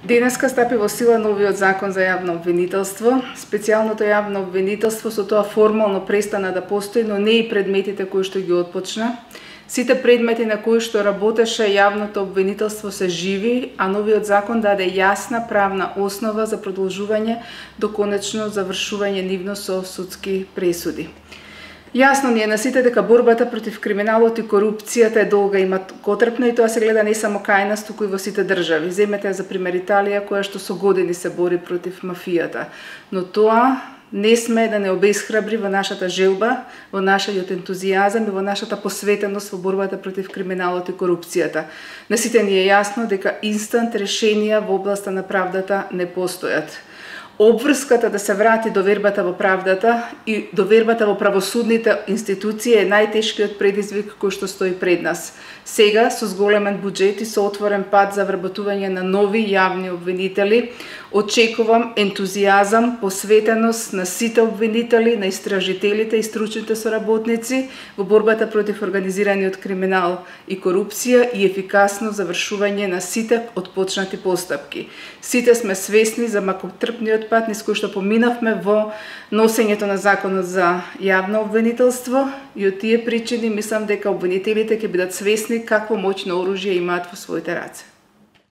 Денеска стапи во сила новиот закон за јавно обвинителство. Специјалното јавно обвинителство со тоа формално престана да постои, но не и предметите кои што ги отпочна. Сите предмети на кои што работеше јавното обвинителство се живи, а новиот закон даде јасна правна основа за продолжување до конечно завршување нивно со судски пресуди. Јасно ни е на сите дека борбата против криминалот и корупцијата е долга и маткотрпна и тоа се гледа не само кај нас, туку и во сите држави. Земете за пример Италија, која што со години се бори против мафијата. Но тоа не сме да не обесхрабри во нашата желба, во нашиот ентузијазам и во нашата посветеност во борбата против криминалот и корупцијата. На сите ни е јасно дека инстант решенија во областа на правдата не постојат. Обврската да се врати довербата во правдата и довербата во правосудните институции е најтешкиот предизвик кој што стои пред нас. Сега, со зголемен буџет и со отворен пат за вработување на нови јавни обвинители, очекувам ентузијазам, посветеност на сите обвинители, на истражителите и стручните соработници во борбата против организираниот криминал и корупција и ефикасно завршување на сите отпочнати постапки. Сите сме свесни за макотрпниот пат низ кој што поминавме во носењето на законот за јавно обвинителство и од тие причини мислам дека обвинителите ќе бидат свесни какво моќно оружје имаат во своите раце.